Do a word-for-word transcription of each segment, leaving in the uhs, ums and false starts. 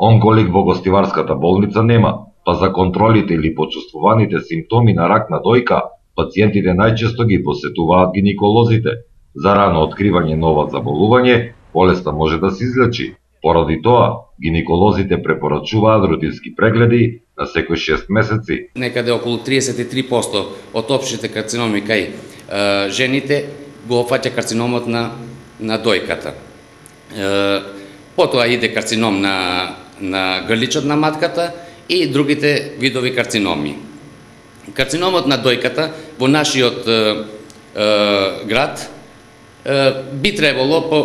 Онколик во гостиварската болница нема, па за контролите или почувствуваните симптоми на рак на дојка, пациентите најчесто ги посетуваат гинеколозите. За рано откривање на ова заболување, болеста може да се излечи. Поради тоа, гинеколозите препорачуваат рутински прегледи на секој шест месеци. Некаде околу триесет и три проценти од општите карциноми кај е, жените го опфаќа карциномот на, на дојката. Е, потоа иде карцином на, на грличот на матката и другите видови карциноми. Карциномот на дојката во нашиот е, е, град е, би требало по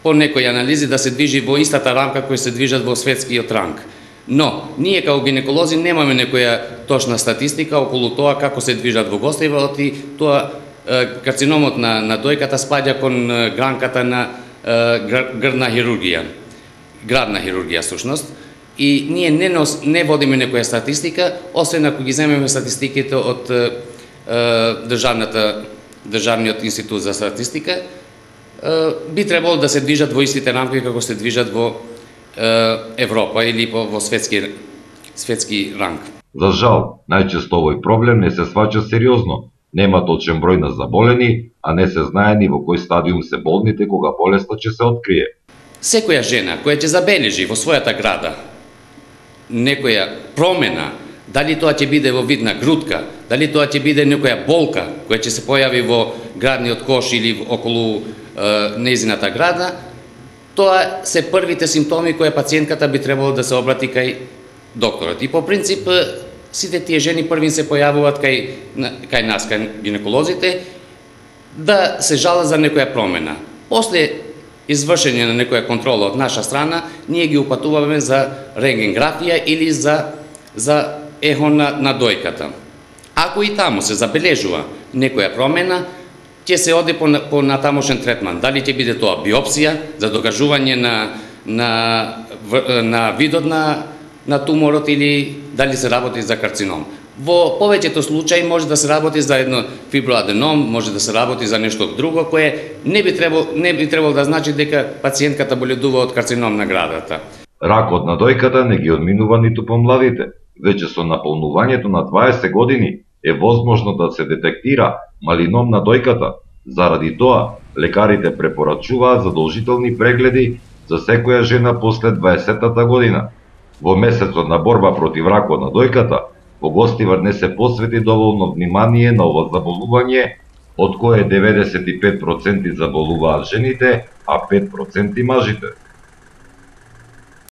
по некои анализи да се движи во истата рамка која се движат во светскиот ранг. Но, ние како гинеколози немаме некоја точна статистика околу тоа како се движат во гостиварот и тоа карциномот на, на дојката спаѓа кон гранката на грдна хирургија, градна хирургија сушност. И ние не, нос, не водиме некоја статистика, освен ако ги земеме статистиките од е, државната, Државниот институт за статистика, би требало да се движат во истите рамки како се движат во Европа или во светски, светски ранг. За жал, најчесто овој проблем не се сваќа сериозно. Нема точен број на заболени, а не се знае ни во кој стадиум се болните кога болеста ќе се открие. Секоја жена која ќе забележи во својата града некоја промена, дали тоа ќе биде во вид на грудка, дали тоа ќе биде некоја болка која ќе се појави во градниот кош или околу нејзината града, тоа се првите симптоми кои пациентката би требало да се обрати кај докторот. И по принцип, сите тие жени први се појавуваат кај, кај нас, кај гинеколозите, да се жалат за некоја промена. После извршење на некоја контрола од наша страна, ние ги упатуваме за рентгенграфија или за, за ехо на, на дојката. Ако и таму се забележува некоја промена, ќе се оди по, по натамошен третман. Дали ќе биде тоа биопсија за докажување на, на, на видот на, на туморот или дали се работи за карцином. Во повеќето случаи може да се работи за едно фиброаденом, може да се работи за нешто друго кое не би требало, не би требало да значи дека пациентката боледува од карцином на градата. Ракот на дојката не ги одминува ниту помладите. Веќе со наполнувањето на дваесет години е возможно да се детектира малином на дојката. Заради тоа, лекарите препорачуваат задолжителни прегледи за секоја жена после дваесеттата година. Во месецот на борба против ракот на дојката, во Гостивар не се посвети доволно внимание на ова заболување, од кое деветдесет и пет проценти заболуваат жените, а пет проценти мажите.